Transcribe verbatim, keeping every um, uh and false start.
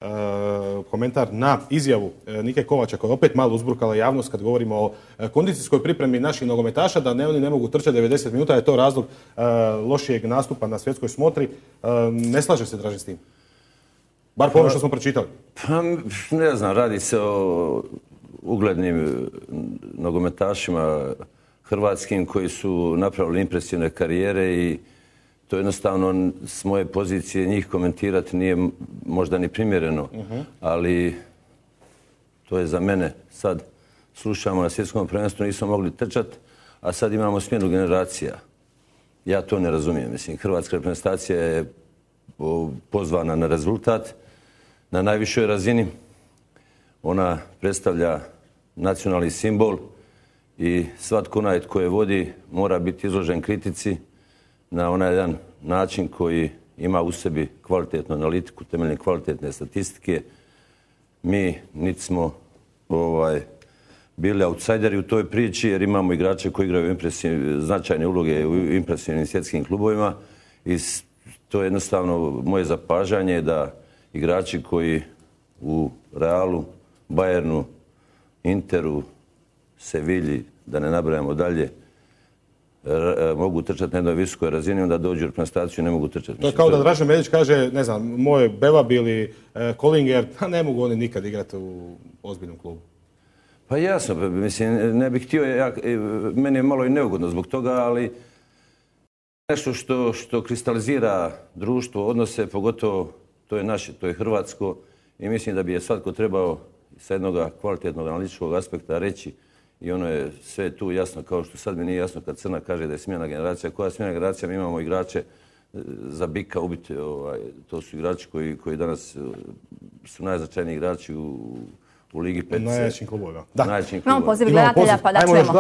E, komentar na izjavu Nike Kovača koja je opet malo uzburkala javnost kad govorimo o kondicijskoj pripremi naših nogometaša, da ne, oni ne mogu trčati devedeset minuta, je to razlog e, lošijeg nastupa na svjetskoj smotri. E, ne slaže se Dražen s tim? Bar po ono što smo pročitali. Pa, ne znam, radi se o uglednim nogometašima hrvatskim koji su napravili impresivne karijere i to jednostavno s moje pozicije njih komentirati nije možda ni primjereno, uh-huh. ali to je za mene. Sad slušamo na svjetskom prvenstvu, nismo mogli trčati, a sad imamo smjenu generacija. Ja to ne razumijem. Mislim, hrvatska reprezentacija je pozvana na rezultat na najvišoj razini. Ona predstavlja nacionalni simbol i svatko onaj tko je vodi mora biti izložen kritici na onaj jedan način koji ima u sebi kvalitetnu analitiku, temeljne kvalitetne statistike. Mi niti smo ovaj, bili outsideri u toj priči jer imamo igrače koji igraju značajne uloge u impresivnim svjetskim klubovima i to je jednostavno moje zapažanje da igrači koji u Realu, Bayernu, Interu, Sevilji, da ne nabrajamo dalje, mogu trčati na jednoj visokoj razini, onda dođu u reprezentaciju i ne mogu trčati. To je kao da Dražen Medić kaže, ne znam, moj Bevab ili Kollinger, pa ne mogu oni nikad igrati u ozbiljnom klubu. Pa jasno, mislim, ne bih htio, ja, meni je malo i neugodno zbog toga, ali nešto što, što kristalizira društvo, odnose, pogotovo to je naše, to je hrvatsko i mislim da bi je svatko trebao sa jednog kvalitetnog analitičkog aspekta reći i ono je sve tu jasno, kao što sad mi nije jasno kad Crna kaže da je smjena generacija. Koja smjena generacija? Mi imamo igrače za bika ubiti. Ovaj, to su igrači koji, koji danas su najznačajniji igrači u, u Ligi pet. Najjačim klubovima. Da. Najjačim klubovima. Imamo poziv gledatelja pa da čujemo.